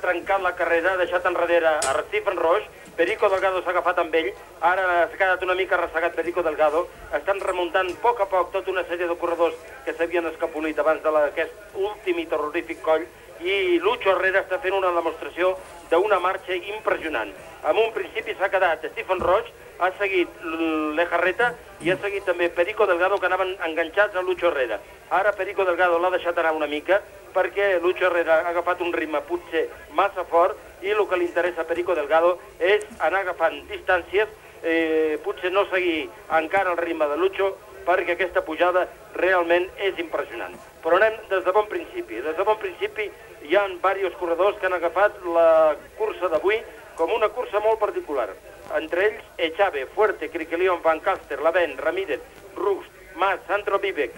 trencat la carrera, ha deixat enrere a Stephen Roche, Perico Delgado s'ha agafat amb ell, ara s'ha quedat una mica ressegat Perico Delgado, estan remuntant a poc tota una sèrie de corredors que s'havien escapolit abans d'aquest últim i terrorífic coll, i Lucho Herrera està fent una demostració d'una marxa impressionant. En un principi s'ha quedat Stephen Roche, ha seguit Lejarreta i ha seguit també Perico Delgado, que anaven enganxats a Lucho Herrera. Ara Perico Delgado l'ha deixat anar una mica perquè Lucho Herrera ha agafat un ritme potser massa fort i el que li interessa a Perico Delgado és anar agafant distàncies, potser no seguir encara el ritme de Lucho, perquè aquesta pujada realment és impressionant. Però anem des de bon principi. Des de bon principi hi ha diversos corredors que han agafat la cursa d'avui com una cursa molt particular. Entre ells, Echave, Fuerte, Criquelion, Van Caster, Lavent, Ramírez, Rust, Mas, Sandro Vivek.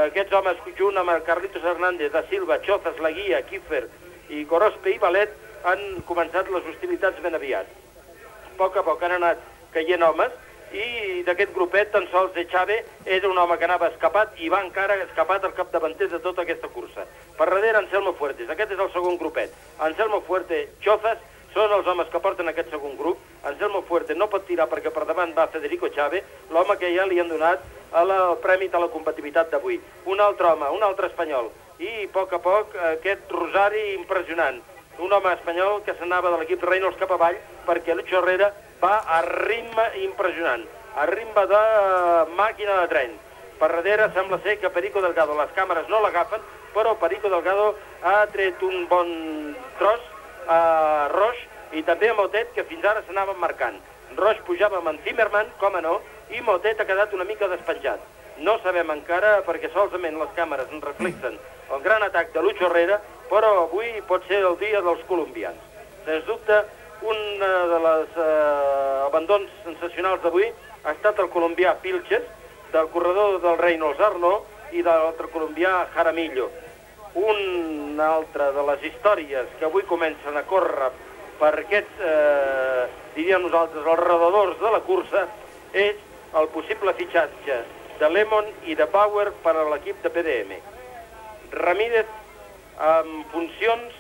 Aquests homes, junt amb el Carlitos Hernández, Da Silva, Chozas, Laguia, Kiefer i Gorospe i Valet, han començat les hostilitats ben aviat. A poc han anat caient homes, i d'aquest grupet tan sols Echave era un home que anava escapat i va encara escapat al capdavanter de tota aquesta cursa. Per darrere Anselmo Fuertes, aquest és el segon grupet. Anselmo Fuerte, Chozas, són els homes que porten aquest segon grup. Anselmo Fuerte no pot tirar perquè per davant va Federico Echave, l'home que ja li han donat el premi de la competitivitat d'avui. Un altre home, un altre espanyol. I a poc aquest Rosari impressionant. Un home espanyol que s'anava de l'equip Reynolds cap avall perquè Lucho Herrera va a ritme impressionant, a ritme de màquina de tren. Per darrere sembla ser que Perico Delgado, les càmeres no l'agafen, però Perico Delgado ha tret un bon tros a Roche i també a Motet, que fins ara s'anaven marcant. Roche pujava amb en Zimmermann, com no, i Motet ha quedat una mica despenjat. No sabem encara, perquè solament les càmeres ens reflexen el gran atac de Lucho Herrera, però avui pot ser el dia dels colombians. Sens dubte, un dels abandons sensacionals d'avui ha estat el colombià Pilches, del corredor del Reynolds Arnaud i de l'altre colombià Jaramillo. Una altra de les històries que avui comencen a córrer per aquests, diríem nosaltres, els redadors de la cursa, és el possible fitxatge de Lemon i de Bauer per a l'equip de PDM. Ramírez, amb funcions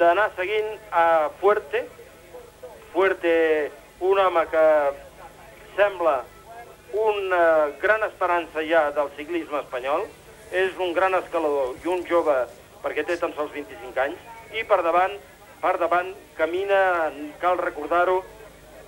d'anar seguint a Fuerte, un home que sembla una gran esperança ja del ciclisme espanyol, és un gran escalador i un jove, perquè té tan sols 25 anys, i per davant camina, cal recordar-ho,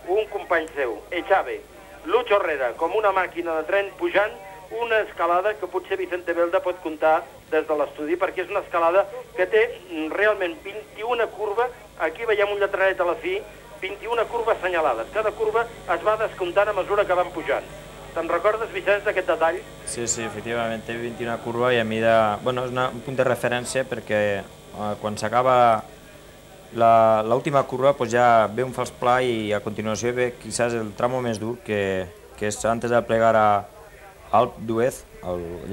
un company seu, Echave, Lucho Herrera, com una màquina de tren pujant una escalada que potser Vicente Belda pot comptar des de l'estudi, perquè és una escalada que té realment 21 curves, aquí veiem un lletraret a la fi, 21 curves assenyalades. Cada curva es va descomptant a mesura que van pujant. Te'n recordes, Vicenç, d'aquest detall? Sí, efectivament, té 21 curva i a mida... Bueno, és un punt de referència perquè quan s'acaba l'última curva ja ve un fals pla i a continuació ve quizás el tramo més dur que és antes de plegar a Alp d'Huez,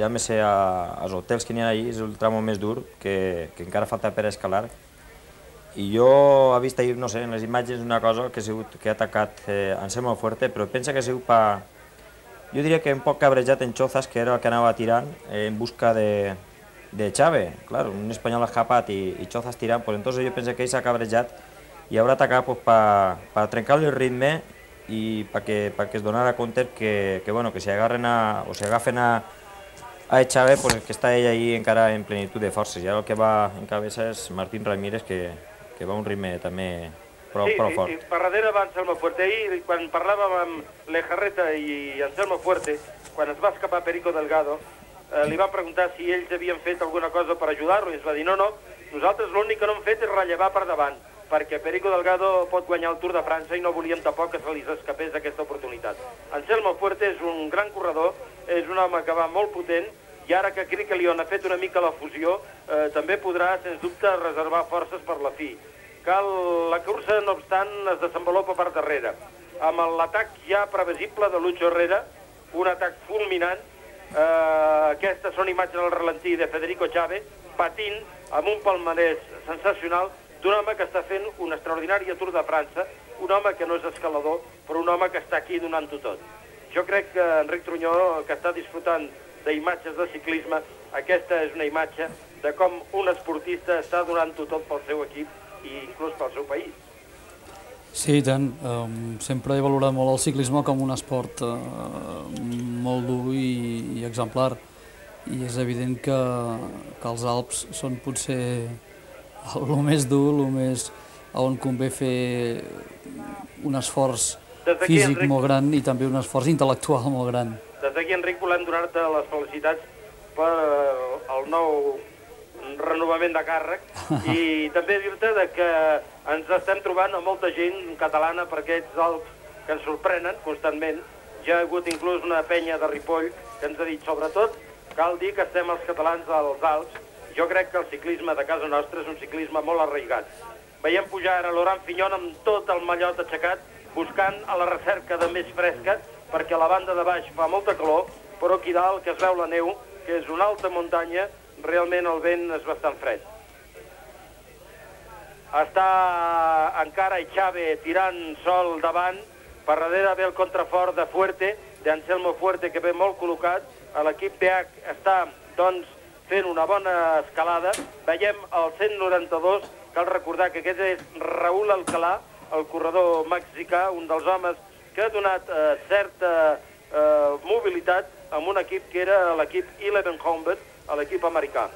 llámese als hotels que n'hi ha allí, és el tramo més dur que encara falta per escalar. I jo he vist ahir, no sé, en les imatges una cosa que ha atacat Anselmo Fuerte, però pensa que ha sigut jo diria que un poc cabrejat en Chozas, que era el que anava tirant en busca de Echave. Claro, un espanyol escapat i Chozas tirant, pues entonces jo penso que ell s'ha cabrejat i haurà atacat per trencar-li el ritme i perquè es donara compte que si agafen a Echave, pues que està ell ahí encara en plenitud de forces. I ara el que va en cabeza és Martín Ramírez, que va a un ritme també prou fort. Sí, per darrere va Anselmo Fuerte. Ahir, quan parlàvem amb Lejarreta i Anselmo Fuerte, quan es va escapar Perico Delgado, li van preguntar si ells havien fet alguna cosa per ajudar-lo, i es va dir, no, nosaltres l'únic que no hem fet és rellevar per davant, perquè Perico Delgado pot guanyar el Tour de França i no volíem tampoc que se li escapés d'aquesta oportunitat. Anselmo Fuerte és un gran corredor, és un home que va molt potent, i ara que Criquelion ha fet una mica la fusió, també podrà, sens dubte, reservar forces per la fi. La cursa, no obstant, es desenvolupa per darrere, amb l'atac ja previsible de Lucho Herrera, un atac fulminant. Aquestes són imatges al ralentí de Federico Echave, patint amb un palmarès sensacional d'un home que està fent una extraordinària Tour de França, un home que no és escalador, però un home que està aquí donant-ho tot. Jo crec que Enric Trunyó, que està disfrutant d'imatges de ciclisme, aquesta és una imatge de com un esportista està donant-ho tot pel seu equip i inclús pel seu país. Sí, i tant. Sempre he valorat molt el ciclisme com un esport molt dur i exemplar. I és evident que els Alps són potser el més dur, on convé fer un esforç físic molt gran i també un esforç intel·lectual molt gran. Des d'aquí, Enric, volem donar-te les felicitats per el nou renovament de càrrec i també dir-te que ens estem trobant amb molta gent catalana per aquests Alps que ens sorprenen constantment. Ja ha hagut inclús una penya de Ripoll que ens ha dit, sobretot, cal dir que estem els catalans als Alps. Jo crec que el ciclisme de casa nostra és un ciclisme molt arraigat. Veiem pujar ara Laurent Fignon amb tot el mallot aixecat, buscant a la recerca de més fresca, perquè a la banda de baix fa molta calor, però aquí dalt, que es veu la neu, que és una alta muntanya, realment el vent és bastant fred. Està encara Echave tirant sol davant, per darrere ve el contrafort de Fuerte, d'Anselmo Fuerte, que ve molt col·locat. L'equip BH està, doncs, fent una bona escalada. Veiem el 192, cal recordar que aquest és Raúl Alcalá, el corredor mexicà, un dels homes que ha donat certa mobilitat amb un equip que era l'equip Eleven Combat, a l'equip americà.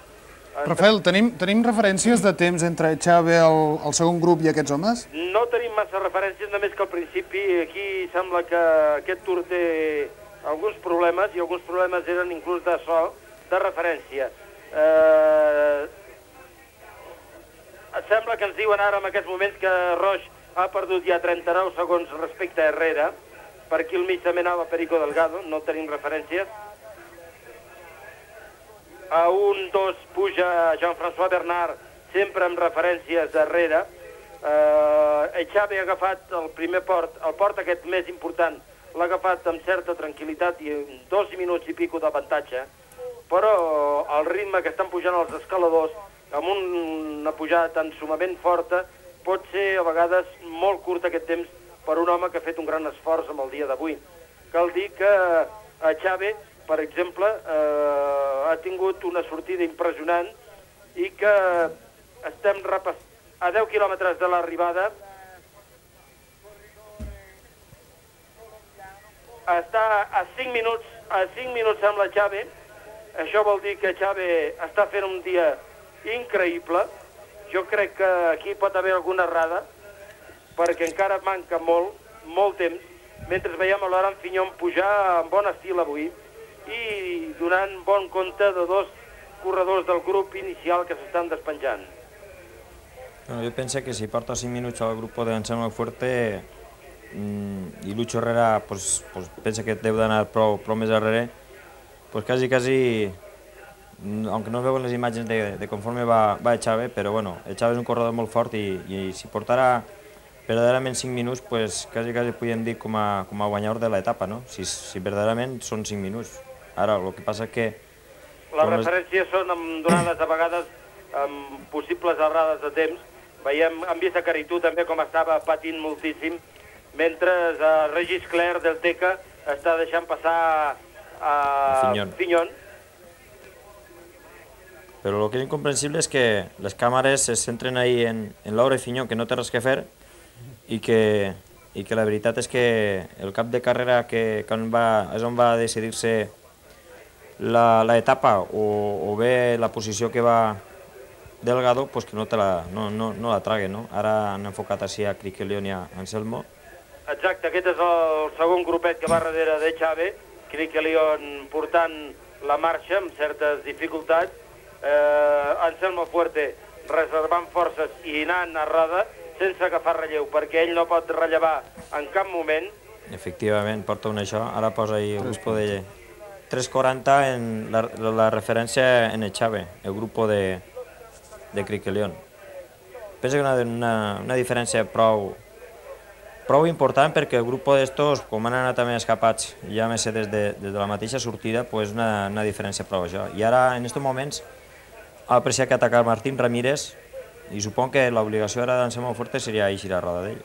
Rafael, tenim referències de temps entre Echave, el segon grup, i aquests homes? No tenim massa referències, només que al principi aquí sembla que aquest Tour té alguns problemes, i alguns problemes eren inclús de so, de referència. Sembla que ens diuen ara en aquests moments que Roche ha perdut ja 39 segons respecte a Herrera. Per aquí al mig també anava Perico Delgado, no tenim referències. A 1-2 puja Jean-François Bernard, sempre amb referències darrere. Echave ha agafat el primer port, el port aquest més important, l'ha agafat amb certa tranquil·litat i 2 minuts i pico d'avantatge, però el ritme que estan pujant els escaladors, amb una pujada tan sumament forta, pot ser a vegades molt curt aquest temps per un home que ha fet un gran esforç amb el dia d'avui. Cal dir que Echave, per exemple, ha tingut una sortida impressionant i que estem a 10 quilòmetres de l'arribada. Està a 5 minuts amb l'Echave. Això vol dir que Echave està fent un dia increïble. Jo crec que aquí pot haver alguna errada, perquè encara manca molt temps, mentre veiem a Laurent Fignon pujar amb bon estil avui i donant bon compte de 2 corredors del grup inicial que s'estan despenjant. Bueno, jo penso que si porta 5 minuts al grup d'Anselmo Fuerte i Lucho Herrera pensa que deu d'anar prou més darrere, quasi, aunque no es veuen les imatges de conforme va Echave, però bueno, Echave és un corredor molt fort i si portarà verdaderament 5 minuts, quasi podríem dir com a guanyador de l'etapa, no? Si verdaderament són 5 minuts. Ara, el que passa que... Les referències són donades a vegades amb possibles errades de temps. Hem vist a Caritú també com estava patint moltíssim, mentre Regis Clerc del Teca està deixant passar a Fignon. Però el que és incomprensible és que les càmeres se centren ahí en Laura Fignon, que no té res que fer, i que la veritat és que el cap de carrera és on va decidir-se l'etapa o bé la posició que va Delgado, que no la trague, no? Ara han enfocat així a Criquelion i a Anselmo. Exacte, aquest és el segon grupet que va darrere d'Echave, Criquelion portant la marxa amb certes dificultats, Anselmo Fuerte reservant forces i anant a roda sense agafar relleu, perquè ell no pot rellevar en cap moment. Efectivament, porta un això, ara posa ahí el grup de 3.40 en la referència en Echave, el grup de Criquelion. Penso que una diferència prou important, perquè el grup d'estos, com han anat també escapats, ja més des de la mateixa sortida, una diferència prou això. I ara, en aquests moments, ha apreciat que atacar Martín Ramírez, i supon que l'obligació ara d'Anselmo Fuerte seria eixir a roda d'ell.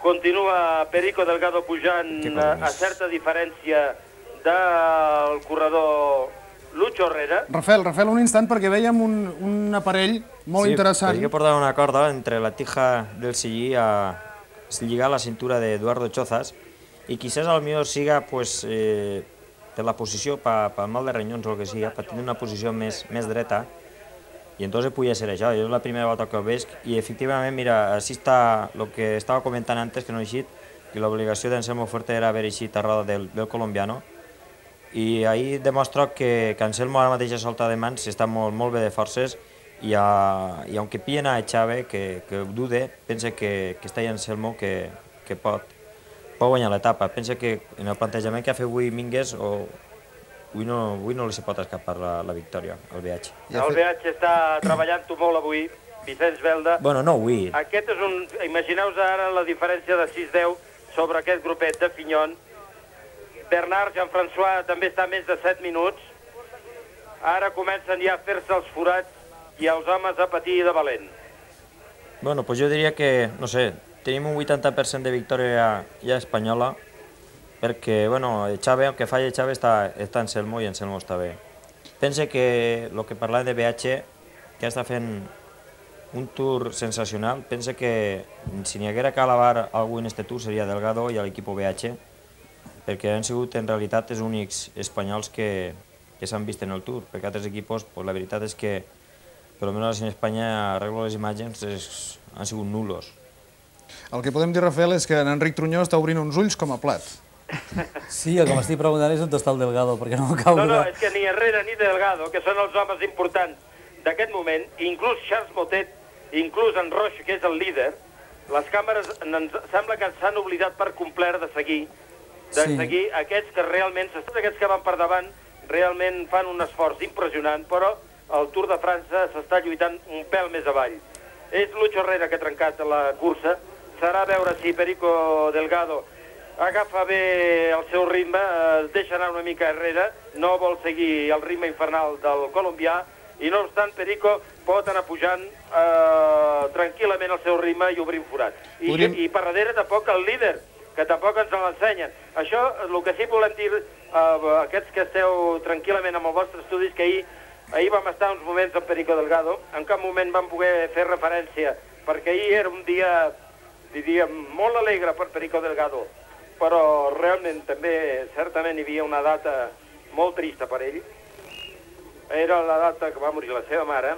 Continua Perico Delgado pujant a certa diferència del corredor Lucho Herrera. Rafael, un instant, perquè veiem un aparell molt interessant. Sí, que portar una corda entre la tija del sillí a lligar la cintura d'Eduardo Chozas i quizás al millor siga pues, per la posició, pel mal de renyons o el que sigui, per tenir una posició més dreta i entonces podia ser això. Jo és la primera volta que ho veig i efectivament, mira, així està el que estava comentant antes, que no he eixit, que l'obligació d'Anselmo Fuerte era haver eixit a roda del colombiano i ahir demostra que Anselmo ara mateix a solta de mans està molt bé de forces i aunque pillen a Echave, que dude, pensa que està ahí Anselmo que pot guanyar l'etapa. Pensa que en el plantejament que ha fet avui Mingues avui no li se pot escapar la victòria, el BH. El BH està treballant-ho molt avui, Vicenç Belda. Bueno, no avui. Aquest és un... Imagineu-vos ara la diferència de 6-10 sobre aquest grupet de Fignon. Bernard Jean-François també està a més de 7 minuts. Ara comencen ja a fer-se els forats i els homes a patir de valent. Bueno, pues jo diria que, no sé, tenim un 80% de victòria ja espanyola, perquè, bueno, Echave, el que falla Echave està Anselmo i Anselmo està bé. Pense que el que parlàvem de BH, que està fent un tour sensacional, pense que si n'hi haguera que alabar algú en este tour seria Delgado i l'equip BH, perquè han sigut en realitat els únics espanyols que s'han vist en el tour, perquè altres equipos, pues, la veritat és que, per almenys en Espanya, arreglo les imatges, han sigut nulos. El que podem dir, Rafael, és que en Enric Trunyó està obrint uns ulls com a plat. Sí, el que m'estic preguntant és on està el Delgado, perquè no m'acabo de... No, és que ni Herrera ni Delgado, que són els homes importants d'aquest moment, inclús Charles Motet, inclús en Roche, que és el líder, les càmeres sembla que s'han oblidat per complet de seguir aquests que realment, aquests que van per davant, realment fan un esforç impressionant, però el Tour de França s'està lluitant un pèl més avall. És Lucho Herrera que ha trencat la cursa, serà veure si Perico Delgado agafa bé el seu ritme, deixa anar una mica Herrera, no vol seguir el ritme infernal del colombià, i no obstant Perico pot anar pujant tranquil·lament el seu ritme i obrint forat. I per darrere tampoc el líder, que tampoc ens l'ensenyen. Això, el que sí volem dir, aquests que esteu tranquil·lament amb el vostre estudi, és que ahir vam estar uns moments amb Perico Delgado, en cap moment vam poder fer referència, perquè ahir era un dia, diríem, molt alegre per Perico Delgado, però realment també, certament, hi havia una data molt trista per ell. Era la data que va morir la seva mare,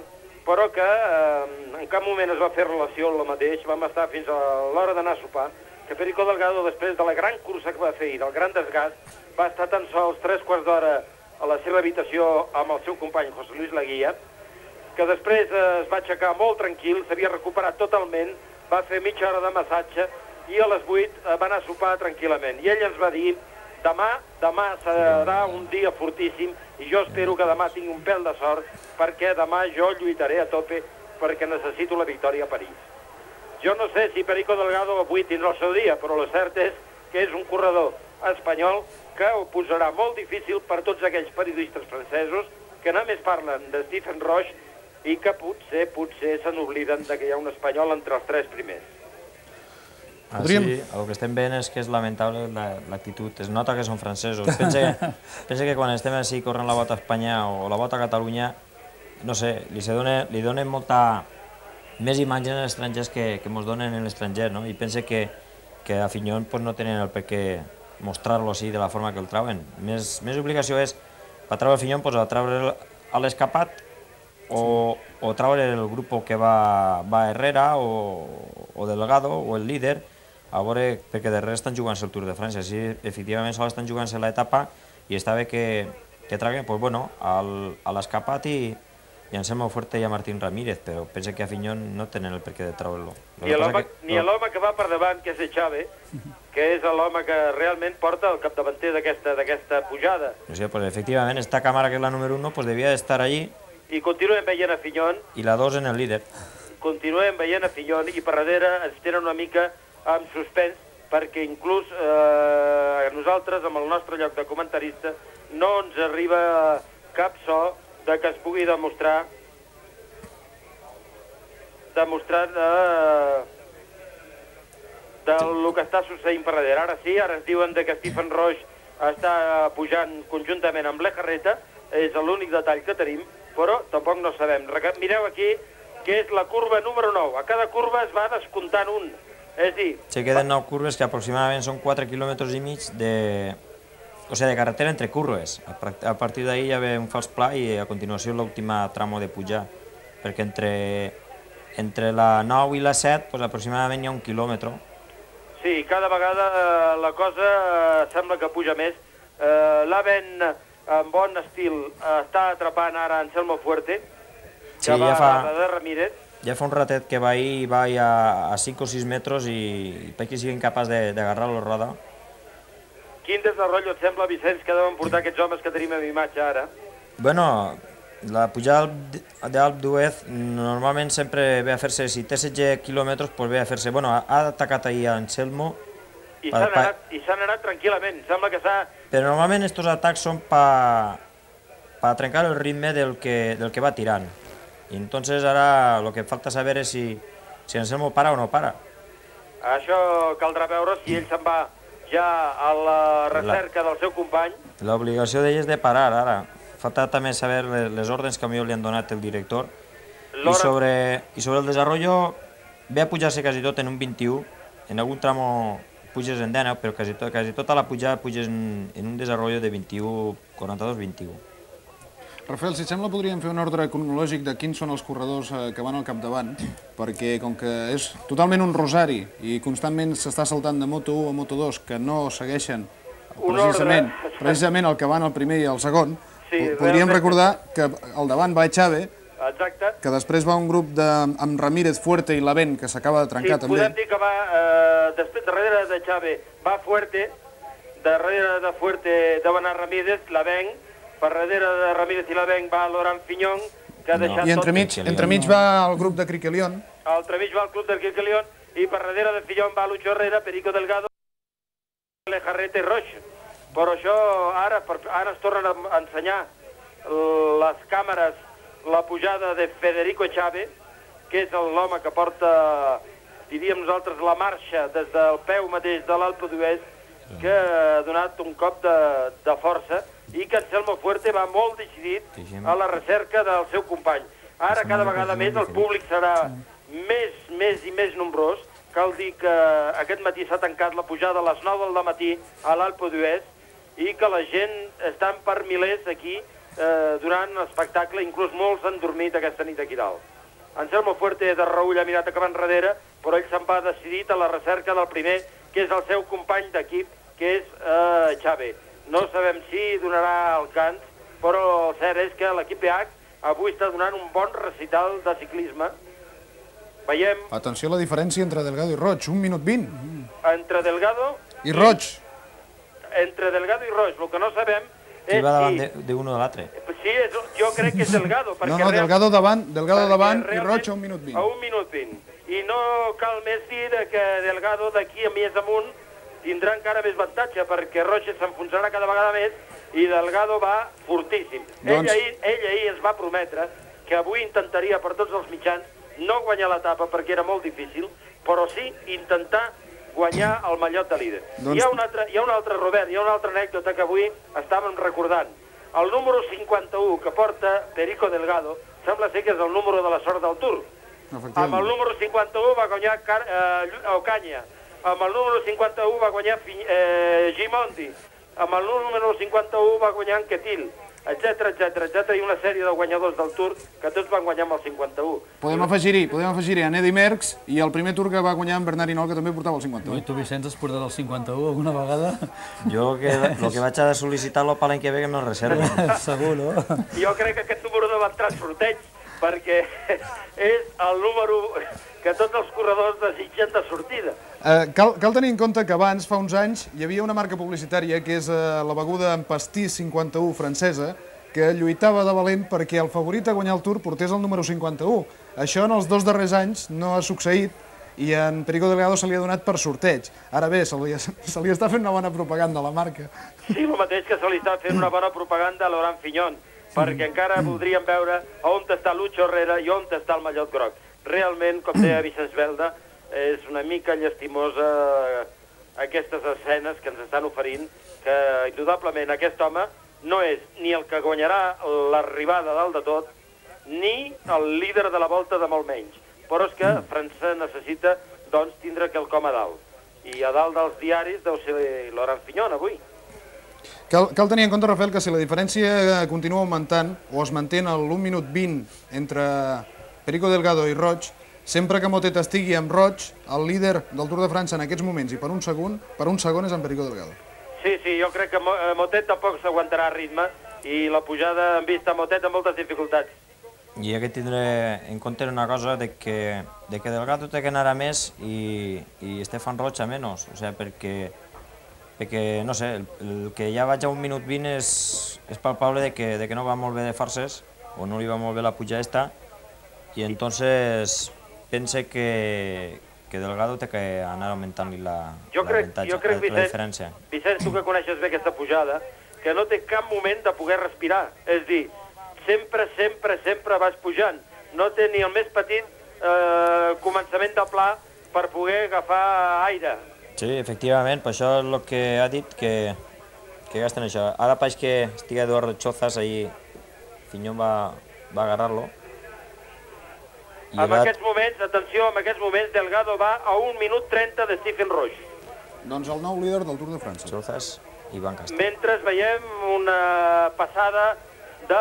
però que en cap moment es va fer relació amb el mateix. Vam estar fins a l'hora d'anar a sopar, que Perico Delgado, després de la gran cursa que va fer i del gran desgast, va estar tan sols 3/4 d'hora a la seva habitació amb el seu company José Luis Laguía, que després es va aixecar molt tranquil, s'havia recuperat totalment, va fer mitja hora de massatge i a les 8 va anar a sopar tranquil·lament. I ell ens va dir, demà serà un dia fortíssim i jo espero que demà tingui un pèl de sort perquè demà jo lluitaré a tope perquè necessito la victòria a París. Jo no sé si Perico Delgado avui tindrà el seu dia, però el cert és que és un corredor espanyol que ho posarà molt difícil per tots aquells periodistes francesos que només parlen de Stephen Roche i que potser se n'obliden que hi ha un espanyol entre els 3 primers. Sí, el que estem veient és que és lamentable l'actitud. Es nota que són francesos. Pensa que quan estem així corrent la volta a Espanya o la volta a Catalunya, no sé, li donen molta més imatge en els estrangers que ens donen en l'estranger, no? I pensa que a Fignon no tenen el per què mostrar-lo així de la forma que el trauen. Més obligació és, per treure el Fignon, treure a l'escapat o treure el grup que va Herrera o Delgado o el líder, a veure, perquè darrere estan jugant-se el Tour de França. Si efectivament sols estan jugant-se l'etapa i està bé que traguen a l'escapat i Anselmo Fuerte i a Martín Ramírez, però pensa que a Fignon no tenen el per què de treure-lo. Ni l'home que va per davant, que és Echave, que és l'home que realment porta el capdavanter d'aquesta pujada. No sé, pues efectivament, esta càmera que és la número 1 devia estar allí. I continuem veient a Fignon. I la 2 en el líder. Continuem veient a Fignon i per darrere ens tenen una mica amb suspens, perquè inclús a nosaltres, amb el nostre lloc de comentarista, no ens arriba cap so de que es pugui demostrar del que està succeint per darrere. Ara sí, ara ens diuen que Stephen Roche està pujant conjuntament amb l'Ejarreta, és l'únic detall que tenim, però tampoc no sabem. Mireu aquí que és la curva número 9. A cada curva es va descomptant un. És a dir... Se queden 9 curves que aproximadament són 4 quilòmetres i mig de carretera entre curves. A partir d'ahí ja ve un fals pla i a continuació l'última tramo de pujar, perquè entre la 9 i la 7 aproximadament hi ha 1 quilòmetre. Sí, cada vegada la cosa sembla que puja més. L'Aven, en bon estil, està atrapant ara Anselmo Fuerte, que va de Ramírez. Ja fa un ratet que va a 5 o 6 metres i perquè sigui incapaç d'agarrar la roda. Quin desarrollo et sembla, Vicenç, que deuen portar aquests homes que tenim en imatge ara? Bueno, la pujada d'Alp d'Huez normalment sempre ve a fer-se, si té 16 quilòmetres, ve a fer-se... Bueno, ha atacat ahir a Anselmo... I s'han anat tranquil·lament, sembla que s'ha... Però normalment aquests atacs són per trencar el ritme del que va tirant. I entonces ara el que falta saber és si Anselmo para o no para. Això caldrà veure si ell se'n va ja a la recerca del seu company. L'obligació d'ell és de parar ara. Falta també saber les ordres que millor li han donat el director. I sobre el desarrollo ve a pujar-se quasi tot en un 21. En algun tramo puges en 19, però quasi tota la pujada puges en un desarrollo de 21, 42-21. Rafael, si et sembla, podríem fer un ordre cronològic de quins són els corredors que van al capdavant, perquè com que és totalment un rosari i constantment s'està saltant de Moto1 a Moto2 que no segueixen precisament el que van el primer i el segon, podríem recordar que al davant va Echave, que després va un grup amb Ramírez, Fuerte i l'Aven, que s'acaba de trencar també. Sí, podem dir que va, darrere de Echave va Fuerte, darrere de Fuerte deu anar Ramírez, l'Aven, per darrere de Ramírez i l'Aven va Laurent Fignon, que ha deixat tot... I entremig va el grup de Criquelion. Entremig va el club de Criquelion, i per darrere de Fignon va Lucho Herrera, Perico Delgado, Lejarreta i Roche. Però això ara es tornen a ensenyar les càmeres la pujada de Federico Echave, que és l'home que porta, diríem nosaltres, la marxa des del peu mateix de l'Alpe d'Huez, que ha donat un cop de força, i que Anselmo Fuerte va molt decidit a la recerca del seu company. Ara cada vegada més el públic serà més i més nombrós. Cal dir que aquest matí s'ha tancat la pujada a les 9 del matí a l'Alpe d'Huez i que la gent estan per milers aquí durant l'espectacle, inclús molts han dormit aquesta nit aquí dalt. Anselmo Fuerte de reull ha mirat cap enrere, però ell se'n va decidit a la recerca del primer, que és el seu company d'equip, que és Echave. No sabem si donarà el cant, però el cert és que l'equip PH avui està donant un bon recital de ciclisme. Veiem... Atenció a la diferència entre Delgado i Roig, 1 minut 20. Entre Delgado... I Roig. Entre Delgado i Roig, el que no sabem és si... va davant d'un o de l'altre. Sí, jo crec que és Delgado. No, Delgado davant i Roig a 1 minut 20. A 1 minut 20. I no cal més dir que Delgado d'aquí a més amunt tindrà encara més avantatge, perquè Roig s'enfonsarà cada vegada més i Delgado va fortíssim. Ell ahir ens va prometre que avui intentaria per tots els mitjans no guanyar l'etapa perquè era molt difícil, però sí intentar guanyar el mallot de líder. Hi ha un altre, Robert, hi ha una altra anècdota que avui estàvem recordant. El número 51 que porta Perico Delgado sembla ser que és el número de la sort del Tour. Amb el número 51 va guanyar Ocaña, amb el número 51 va guanyar Gimondi, amb el número 51 va guanyar Anquetil, etc. i una sèrie de guanyadors del Tour que tots van guanyar amb el 51. Podem afegir-hi a Eddy Merckx i el primer Tour que va guanyar en Bernard Hinault, que també portava el 51. I tu, Vicenç, has portat el 51 alguna vegada? Jo el que vaig a sol·licitar-lo per l'any que ve que me'l reserva. Segur, no? Jo crec que aquest número no va entrar en sorteig, perquè és el número que tots els corredors desitgen de sortida. Cal tenir en compte que abans, fa uns anys, hi havia una marca publicitària que és la beguda en pastís 51 francesa, que lluitava de valent perquè el favorit a guanyar el Tour portés el número 51. Això en els 2 darrers anys no ha succeït i en Perico Delgado se li ha donat per sorteig. Ara bé, se li està fent una bona propaganda a la marca. Sí, el mateix que se li està fent una bona propaganda a Laurent Fignon, perquè encara voldríem veure on està Lucho Herrera i on està el mallot groc. Realment, com deia Vicenç Belda, és una mica llastimosa aquestes escenes que ens estan oferint, que indudablement aquest home no és ni el que guanyarà l'arribada dalt de tot, ni el líder de la volta de molt menys. Però és que França necessita doncs, tindre quelcom a dalt. I a dalt dels diaris deu ser Laurent Fignon avui. Cal tenir en compte, Rafael, que si la diferència continua augmentant o es manté en l'1 minut 20 entre Perico Delgado i Roig, sempre que Motet estigui amb Roig, el líder del Tour de França en aquests moments i per un segon és en Perico Delgado. Sí, jo crec que Motet tampoc s'aguantarà ritme i la pujada hem vist a Motet amb moltes dificultats. I hi ha que tindre en compte una cosa de que Delgado té que anar a més i Stefan Roig a menys, o sigui, perquè, no sé, el que ja vaig a 1 minut 20 és palpable de que no va molt bé de forces, o no li va molt bé la puja esta, i entonces pense que Delgado té que anar augmentant-li la diferència. Vicenç, tu que coneixes bé aquesta pujada, que no té cap moment de poder respirar, és dir, sempre vas pujant, no té ni el més petit començament de pla per poder agafar aire. Sí, efectivament, per això és el que ha dit, que gasten això. Ara pareix que estigui Eduardo Chozas, ahí Fignon va agarrar-lo. En aquests moments, atenció, en aquests moments Delgado va a 1 minut 30 de Stephen Roche. Doncs el nou líder del Tour de França. Chozas i Van Caster. Mentre veiem una passada de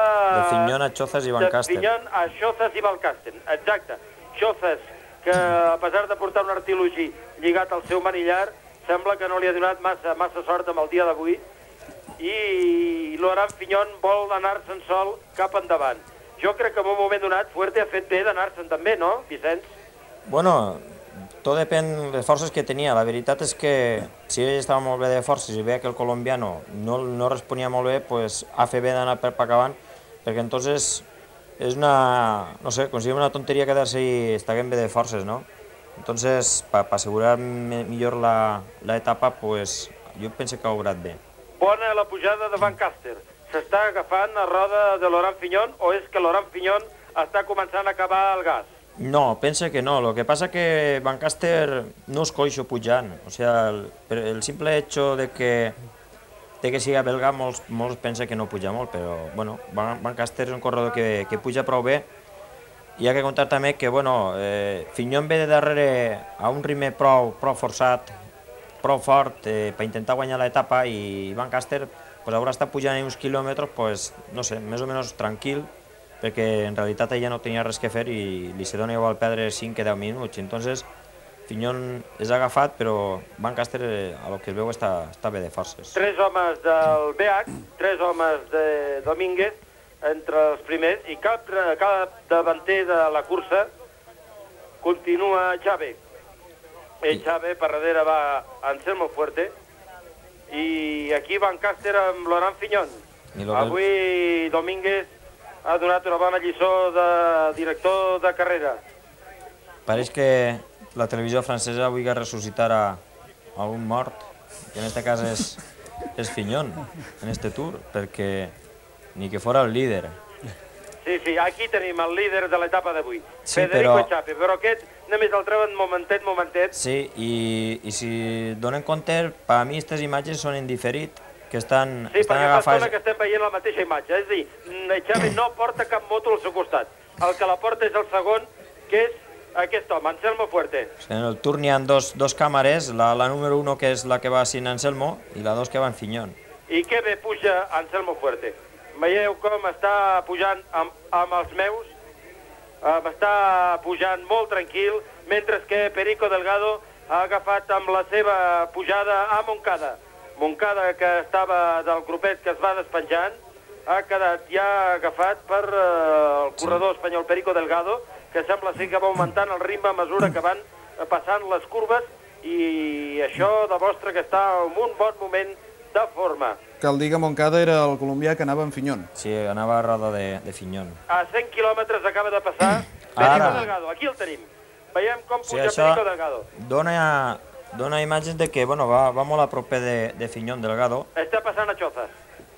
Fignon a Chozas i Van Caster. De Fignon a Chozas i Van Caster, exacte. Chozas, que a pesar de portar un artilogi lligat al seu manillar, sembla que no li ha donat massa sort amb el dia d'avui, i Laurent Fignon vol anar-se'n sol cap endavant. Jo crec que en un moment donat Fuerte ha fet bé d'anar-se'n també, no, Vicenç? Bueno, tot depèn de les forces que tenia. La veritat és que si ell estava molt bé de forces i veia que el colombiano no responia molt bé, pues ha fet bé d'anar per acabant, perquè entonces és una, no sé, considero una tonteria quedar-se i estar bé de forces, ¿no? Entonces, para asegurar millor la etapa, pues jo penso que ha obrat bé. Bona la pujada de Van Caster. S'està agafant a roda de Laurent Fignon o és que Laurent Fignon està començant a acabar el gas? No, penso que no. Lo que pasa que Van Caster no és coixo pujant. O sea, el simple hecho de que sigui belga, molts pensen que no puja molt, però bueno, Van Caster és un corredor que puja prou bé. I ha que comptar també que bueno, Fignon ve de darrere a un ritme prou forçat, prou fort per intentar guanyar l'etapa, i Van Caster haurà estat pujant uns quilòmetres, no sé, més o menys tranquil, perquè en realitat ella no tenia res que fer i li se dona igual perdre 5 que 10 minuts. Entonces, Fignon és agafat, però Van Caster, a lo que es veu, està bé de forces. 3 homes del BH, 3 homes de Domínguez, entre els primers, i cap davanter de la cursa continua Xavi. Xavi per darrere va Anselmo Fuerte, i aquí Van Caster amb Laurent Fignon. Avui Domínguez ha donat una bona lliçó de director de carrera. Pareix que la televisió francesa vulgui ressuscitar a un mort, que en aquest cas és Fignon, en aquest tour, perquè ni que fora el líder. Sí, aquí tenim el líder de l'etapa d'avui, Federico Xapi, però aquest només el treuen momentet. Sí, i si donen compte, per a mi aquestes imatges són en diferit, que estan agafades... Sí, perquè fa estona que estem veient la mateixa imatge, és a dir, Xavi no porta cap moto al seu costat, el que la porta és el segon, que és aquest home, Anselmo Fuerte. En el Tour n'hi ha dos càmeres, la número 1 que és la que va sin Anselmo i la 2 que va en Fignon. I que bé puja Anselmo Fuerte. Veieu com està pujant amb els meus, està pujant molt tranquil, mentre que Perico Delgado ha agafat amb la seva pujada a Moncada. Moncada, que estava del grupet que es va despenjant, ha quedat ja agafat per el corredor espanyol Perico Delgado, que sembla ser que va augmentant el ritme a mesura que van passant les curves, i això demostra que està en un bon moment de forma. Cal dir que Moncada era el colombià que anava en Fignon. Sí, anava a roda de Fignon. A 100 quilòmetres acaba de passar Perico Delgado, aquí el tenim. Veiem com puja Perico Delgado. Dona imatges de que va molt a proper de Fignon Delgado. Està passant a Chozas.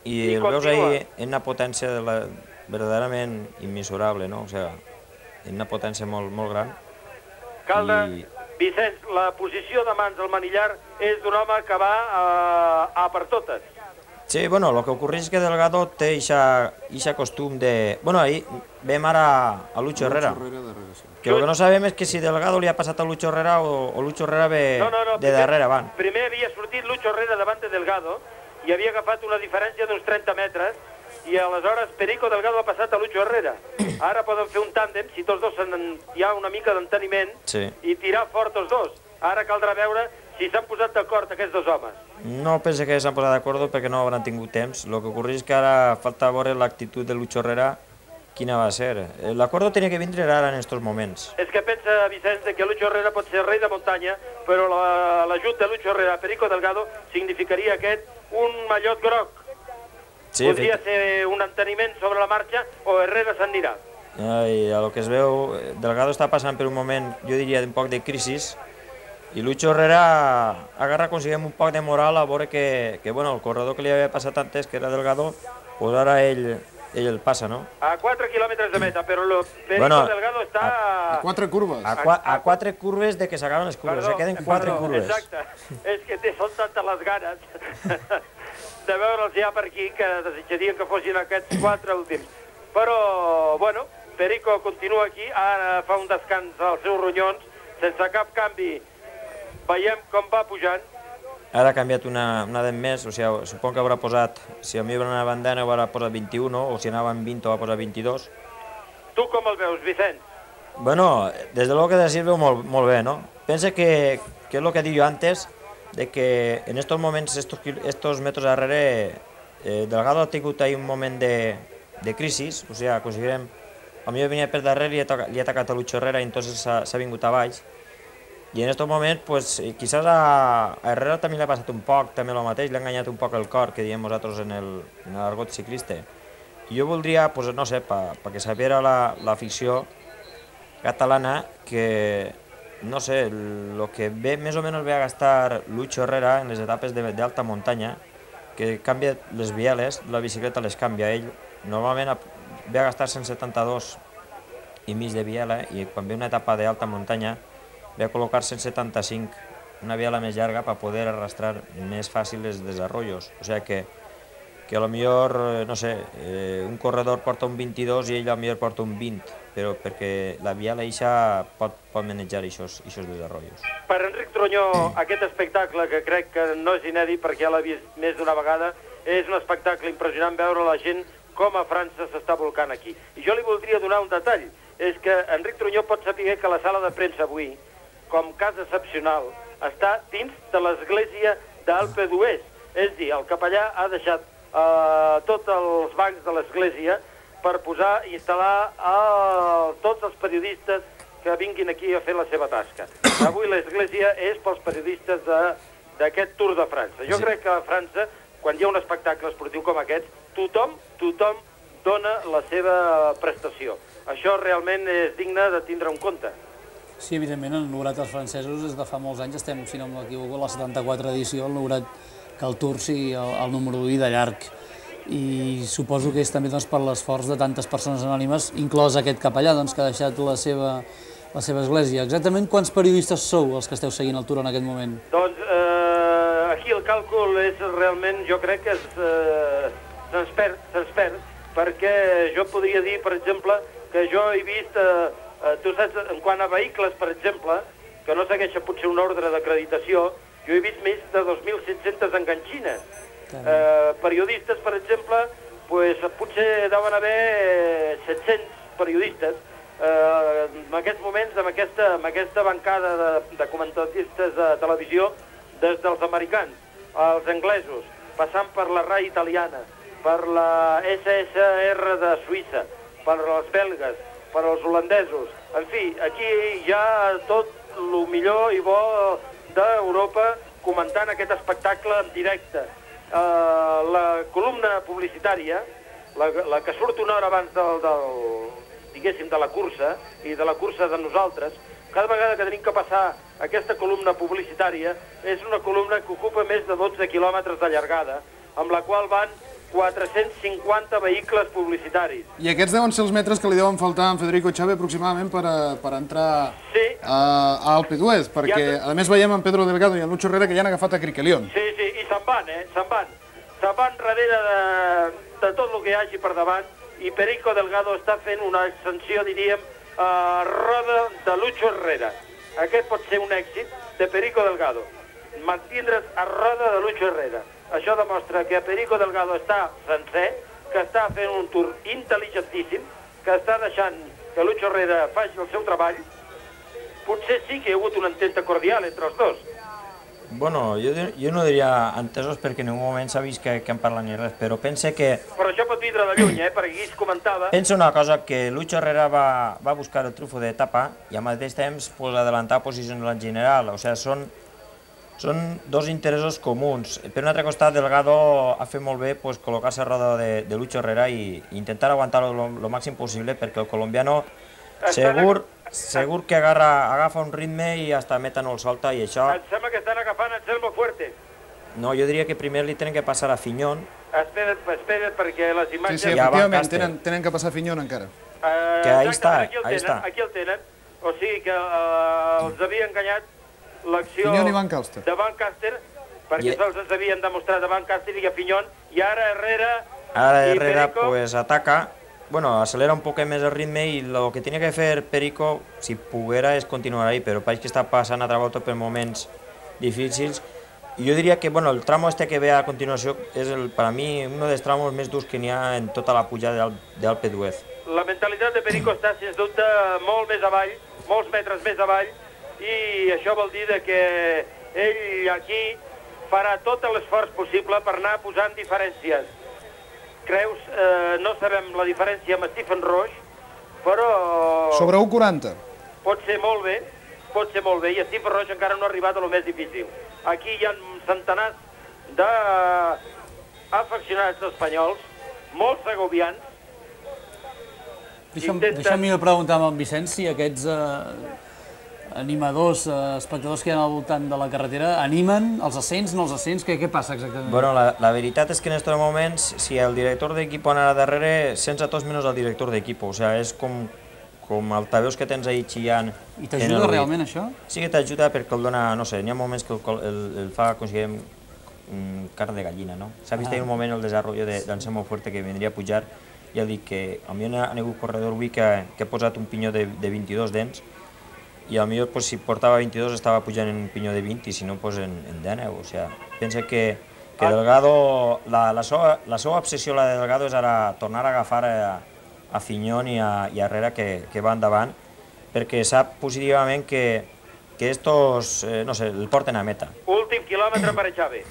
I el veus ahí en una potència verdaderament immesurable, no? O sigui, en una potència molt gran. Vicenç, la posició de mans al manillar és d'un home que va a per totes. Sí, bueno, lo que ocurre es que Delgado té ixa costum de... Bueno, ahí vem ara a Lucho Herrera. Que lo que no sabem és que si Delgado li ha passat a Lucho Herrera o Lucho Herrera ve de darrere, van. Primer havia sortit Lucho Herrera davant de Delgado i havia agafat una diferència d'uns 30 metres i aleshores Perico Delgado ha passat a Lucho Herrera. Ara poden fer un tàndem, si tots dos hi ha una mica d'enteniment, i tirar fort tots dos. Ara caldrà veure si s'han posat d'acord aquests dos homes. No pense que s'han posat d'acord perquè no hauran tingut temps. Lo que ocorre és que ara falta veure l'actitud de Lucho Herrera, quina va ser. L'acord tenia que vindre ara en aquests moments. És que pensa, Vicenç, que Lucho Herrera pot ser rei de muntanya, però l'ajut de Lucho Herrera a Perico Delgado significaria un mallot groc. Podria ser un enteniment sobre la marxa o Herrera s'anirà. I a lo que es veu, Delgado està passant per un moment, jo diria, d'un poc de crisi, i Lucho Herrera agarra, aconseguim un poc de moral a veure que bueno, el corredor que li havia passat antes, que era Delgado, pues ara ell el passa, no? A 4 quilòmetres de meta, però Perico Delgado està... A 4 curves. A 4 curves de que s'acaben les curves, se queden 4 curves. Exacte, és que són tantes les ganes de veure'ls ja per aquí que desitjarien que fossin aquests 4 últims. Però, bueno, Perico continua aquí, ara fa un descans als seus ronyons, sense cap canvi. Veiem com va pujant. Ara ha canviat una dent més, o sigui, suponc que haurà posat, si a mi va anar a bandana haurà posat 21, o si anava en 20 va posar 22. Tu com el veus, Vicenç? Bueno, des de lo que decís veu molt bé, no? Pensa que és el que he dit jo antes, de que en estos moments, estos metros darrere, Delgado ha tingut ahí un moment de crisi, o sigui, aconseguirem, a mi venia per darrere i li ha atacat a Lucho Herrera i entonces s'ha vingut a baix. I en aquest moment, pues, quizás a Herrera també li ha passat un poc, també el mateix, li ha enganyat un poc el cor, que diem nosaltres en l'argot ciclista. I jo voldria, pues, no sé, perquè sapiera l'afició catalana que, no sé, el que ve més o menys ve a gastar Lucho Herrera en les etapes d'alta muntanya, que canvia les bieles, la bicicleta les canvia ell, normalment ve a gastar 172 i mig de biela i quan ve una etapa d'alta muntanya ve a col·locar 175, una biela més llarga per poder arrastrar més fàcil els desarrollos. O sigui que a lo millor, no sé, un corredor porta un 22 i ell a lo millor porta un 20, però perquè la biela eixa pot manejar aquests desarrollos. Per Enric Trunyó, aquest espectacle, que crec que no és inèdit perquè ja l'ha vist més d'una vegada, és un espectacle impressionant veure la gent com a França s'està volcant aquí. I jo li voldria donar un detall, és que Enric Trunyó pot saber que la sala de premsa avui, com cas excepcional, està dins de l'església d'Alpe d'Huez. És dir, el capellà ha deixat tots els bancs de l'església per posar i instal·lar tots els periodistes que vinguin aquí a fer la seva tasca. Avui l'església és pels periodistes d'aquest Tour de França. Jo crec que a França, quan hi ha un espectacle esportiu com aquest, tothom dona la seva prestació. Això realment és digne de tindre en compte. Sí, evidentment, el Nourat dels francesos des de fa molts anys estem, si no m'equivoco, a la 74 edició, el Nourat que el Tour sigui el número 1 de llarg. I suposo que és també per l'esforç de tantes persones anònimes, inclòs aquest capellà que ha deixat la seva església. Exactament quants periodistes sou els que esteu seguint el Tour en aquest moment? Doncs aquí el càlcul és realment, jo crec que se'ns perd, perquè jo podria dir, per exemple, que jo he vist... Tu saps, en quant a vehicles, per exemple, que no segueixen potser un ordre d'acreditació, jo he vist més de 2.700 enganxines. Periodistes, per exemple, potser deuen haver 700 periodistes. En aquests moments, amb aquesta bancada de comentaristes de televisió, des dels americans, els anglesos, passant per la RAI italiana, per la SSR de Suïssa, per els belgues, per als holandesos. En fi, aquí hi ha tot el millor i bo d'Europa comentant aquest espectacle en directe. La columna publicitària, la que surt una hora abans diguéssim, de la cursa i de la cursa de nosaltres, cada vegada que tenim que passar aquesta columna publicitària és una columna que ocupa més de 12 quilòmetres de llargada, amb la qual van 450 vehicles publicitaris. I aquests deuen ser els metres que li deuen faltar a en Federico Chávez aproximadament per entrar a Alpe d'Huez, perquè a més veiem en Pedro Delgado i en Lucho Herrera que ja han agafat a Criquelión. Sí, i se'n van, se'n van. se'n van darrere de tot el que hi hagi per davant i Perico Delgado està fent una ascensió, diríem, a roda de Lucho Herrera. Aquest pot ser un èxit de Perico Delgado, mantindre's a roda de Lucho Herrera. Això demostra que Perico Delgado està sencer, que està fent un tour intel·ligentíssim, que està deixant que Lucho Herrera faci el seu treball. Potser sí que hi ha hagut una ententa cordial entre els dos. Bueno, jo no diria entesos perquè en un moment s'ha vist que han parlat ni res, però pense que... Però això pot vindre de lluny, perquè aquí es comentava... Penso una cosa, que Lucho Herrera va buscar el trufo d'etapa i al mateix temps pues, adelantar posicions en general, o sigui, són dos interessos comuns. Per un altre costat, Delgado ha fet molt bé pues, col·locar-se a roda de Lucho Herrera i intentar aguantar-lo lo màxim possible perquè el colombiano segur que agafa un ritme i hasta meta no el solta i això... Em sembla que estan agafant Anselmo Fuerte. No, jo diria que primer li tenen que passar a Fiñón. Espera't, perquè les imatges... Sí, efectivament, tenen que passar Fiñón encara. Que ahí està, Aquí el tenen. O sigui que els havia enganyat l'acció de Van Caster, perquè sols ens havien demostrat a Van Caster i a Fiñón, i ara Herrera... Ara Herrera pues ataca, bueno, acelera un poc més el ritme i el que tenia que fer Perico, si poguera, és continuar ahí, però pareix que està passant a volta per moments difícils. I jo diria que bueno, el tramo este que ve a continuació és, per a mi, un dels tramos més durs que n'hi ha en tota la pujada d'Alpe d'Huez. La mentalitat de Perico està, sens dubte, molt més avall, molts metres més avall, i això vol dir que ell aquí farà tot l'esforç possible per anar posant diferències. Creus, no sabem la diferència amb Stephen Roche, però... Sobre 1,40. Pot ser molt bé, i Stephen Roche encara no ha arribat a lo més difícil. Aquí hi ha centenars d'afeccionats espanyols, molts segovians. Deixa'm preguntar amb en Vicenç si aquests animadors, espectadors que hi ha al voltant de la carretera, animen els ascens, no els ascens? Què passa exactament? Bueno, la veritat és que en aquests moments, si el director d'equip anava darrere, sents a tots menys el director d'equip. O sigui, és com altaveus que tens ahí xillant. I t'ajuda realment això? Sí que t'ajuda perquè el dona, no sé, n'hi ha moments que el fa, com si diguem, carn de gallina, no? S'ha vist en un moment el desenvolupament d'Anselmo Fuerte que vindria a pujar, i ha dit que a mi ha hagut corredor avui que ha posat un pinyó de 22 dents, i potser si portava 22 estava pujant en un pinyó de 20 i si no en 19, o sigui, pensa que Delgado, la seva obsessió la de Delgado és ara tornar a agafar a Fiñón i a Herrera que va endavant, perquè sap positivament que estos, no sé, el porten a meta. Últim quilòmetre per Echave.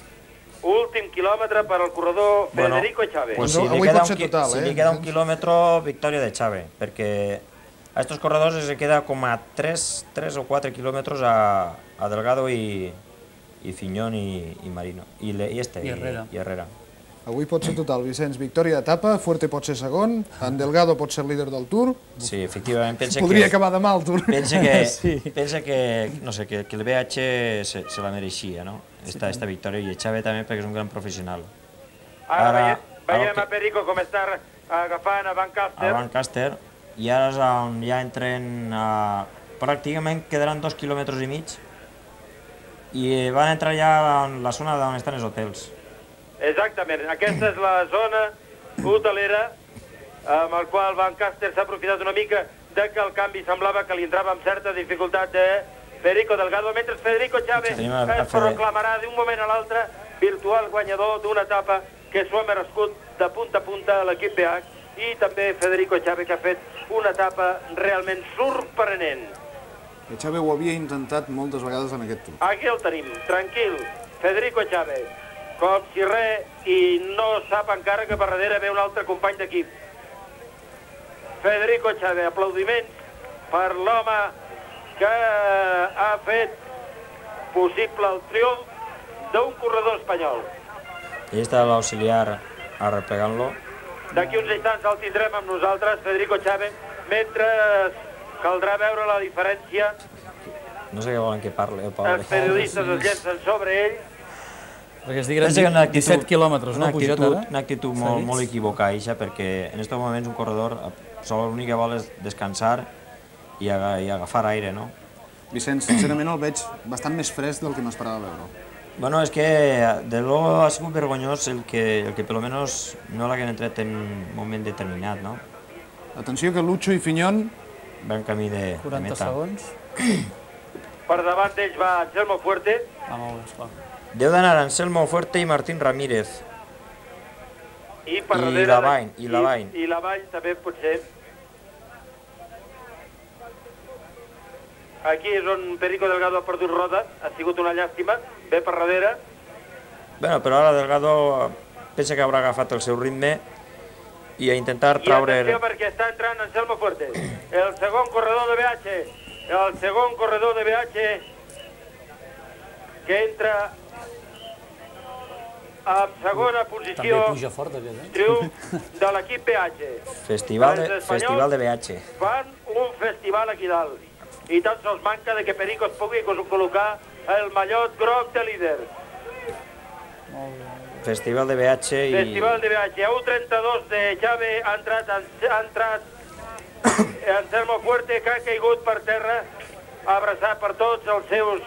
Últim quilòmetre per al corredor Federico Echave. Pues si li queda un quilòmetre, victòria d'Echave, perquè a estos corredors se queda com a 3 o 4 kilómetros a Delgado y Fiñón y Marino. I Herrera. Avui pot ser total, Vicenç. Victòria d'etapa, Fuerte pot ser segon, en Delgado pot ser líder del Tour. Sí, efectivament. Podria acabar demà el Tour. Pensa que, no sé, que el BH se la mereixia, no? Esta victòria, i Echave també perquè és un gran professional. Ara veiem a Perico com està agafant a Van Caster. A Van Caster. I ara és on ja entren, pràcticament quedaran 2,5 quilòmetres i van entrar ja en la zona on estan els hotels. Exactament, aquesta és la zona hotelera amb el qual Van Caster s'ha aprofitat una mica de que el canvi semblava que li entrava amb certa dificultat de Perico Delgado, mentre Federico Echave es proclamarà d'un moment a l'altre virtual guanyador d'una etapa que s'ho ha merescut de punta a punta a l'equip BH, i també Federico Echave, que ha fet una etapa realment sorprenent. Echave ho havia intentat moltes vegades en aquest Tour. Aquí el tenim, tranquil, Federico Echave, com si res, i no sap encara que per darrere ve un altre company d'equip. Federico Echave, aplaudiments per l'home que ha fet possible el triomf d'un corredor espanyol. I està l'auxiliar arreplegant-lo. D'aquí uns instants el tindrem amb nosaltres, Federico Echave, mentre caldrà veure la diferència. No sé què volen que parli, el pobre. Els periodistes es llencen sobre ell. Perquè es digueren 17 quilòmetres, no? Una actitud molt equivocada, perquè en aquests moments un corredor l'únic que vol és descansar i agafar aire, no? Vicenç, sincerament el veig bastant més fresc del que m'esperava veure. Bueno, és que de luego ha sigut vergonyós el que per lo menos no l'haguem entrat en un moment determinat, no? Atenció que Lucho i Fiñón... Va en camí de 40 meta. segons. Per davant d'ells va Anselmo Fuerte. Ah, molt bé, esclar. Deu d'anar Anselmo Fuerte i Martín Ramírez. I per I darrere... Lavany, i Lavany. I Lavany també potser. Aquí és on Perico Delgado ha perdut roda, ha sigut una llàstima, ve per darrere. Bueno, però ara Delgado pensa que haurà agafat el seu ritme i a intentar traure... I atenció perquè està entrant Anselmo Fuerte, el segon corredor de BH, el segon corredor de BH que entra en segona També posició, puja fort aquest, triomf de l'equip BH. Festival Els de espanyols BH. fan un festival aquí dalt i tan sols manca de que Perico es pugui col·locar el mallot groc de líder. Festival de BH i... Festival de BH, a 1.32 de Xave ha entrat Anselmo Fuerte, que ha caigut per terra, abraçat per tots els seus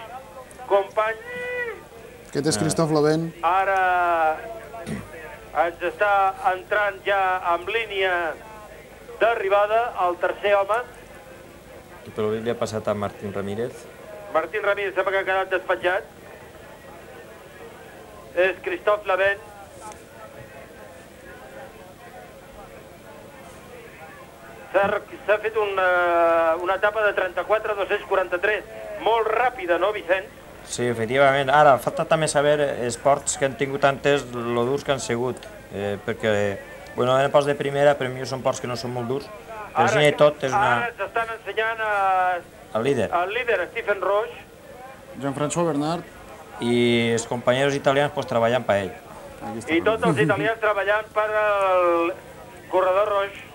companys. Aquest és Christophe Lavent. Ara ens està entrant ja amb línia d'arribada el tercer home. I per li ha passat a Martín Ramírez. Martín Ramírez sembla que ha quedat despatxat. És Christophe Lavent. S'ha fet una etapa de 34-243, molt ràpida, no, Vicenç? Sí, efectivament. Ara, falta també saber esports que han tingut antes, lo durs que han sigut, perquè, bueno, eren ports de primera, però millor són ports que no són molt durs. Però si i tot és una... Ara s'estan ensenyant El líder. el líder, Stephen Roche, Jean-François Bernard. I els companys italians pues, treballant per ell. Aquí està. i tots els italians treballant per al corredor Roche.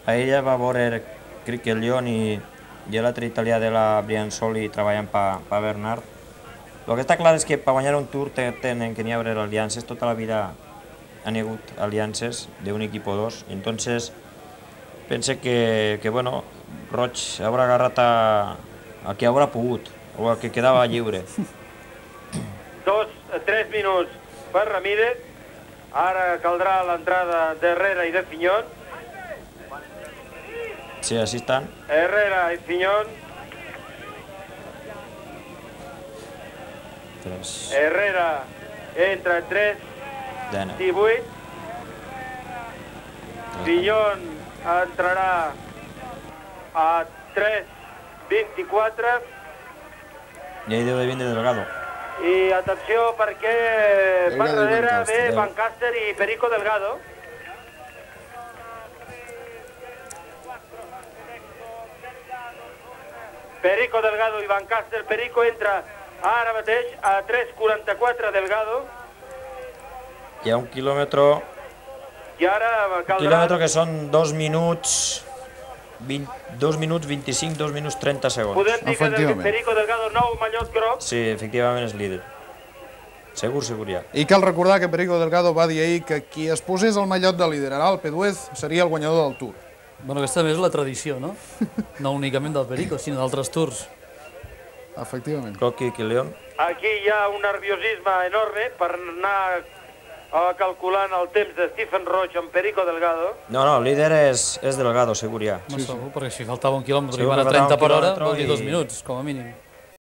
A ella va veure, crec que el Lion i l'altre italià de la Brianzoli treballant per Bernard. El que està clar és que per guanyar un Tour tenen que n'hi haver aliances. Tota la vida han hagut aliances d'un equip o dos. Entonces, pense que bueno, Roig haurà agarrat a qui haurà pogut, o a qui quedava lliure. 3 minuts per Ramírez. Ara caldrà l'entrada d'Herrera i de Fiñón. Sí, així estan. Herrera i Fiñón. Herrera entra en 3:18. Fiñón entrarà a 3:24. I ahí deu de vindre Delgado. I atenció perquè per darrere ve Van Caster i Perico Delgado. Perico Delgado i Van Caster. Perico entra ara mateix a 3:44 Delgado. Hi ha un quilòmetre... I ara caldrà... Quilòmetre que són 2 minuts... 2 minuts 25, 2 minuts 30 segons. Podem dir que Perico Delgado, nou mallot groc. Sí, efectivament és líder. Segur ja. I cal recordar que Perico Delgado va dir ahir que qui es posés el mallot de líder a l'Alpe d'Huez seria el guanyador del Tour. Bueno, aquesta també és la tradició, no? No únicament del Perico, sinó d'altres tours. Efectivament. Croqui i León. Aquí hi ha un nerviosisme enorme per anar calculant el temps de Stephen Roche amb Perico Delgado. No, el líder és Delgado, segur ja. No segur, perquè si faltava un quilòmetre i Segur van a que faltava 30 per un hora, quilòmetre vol dir i- 2 minuts, com a mínim.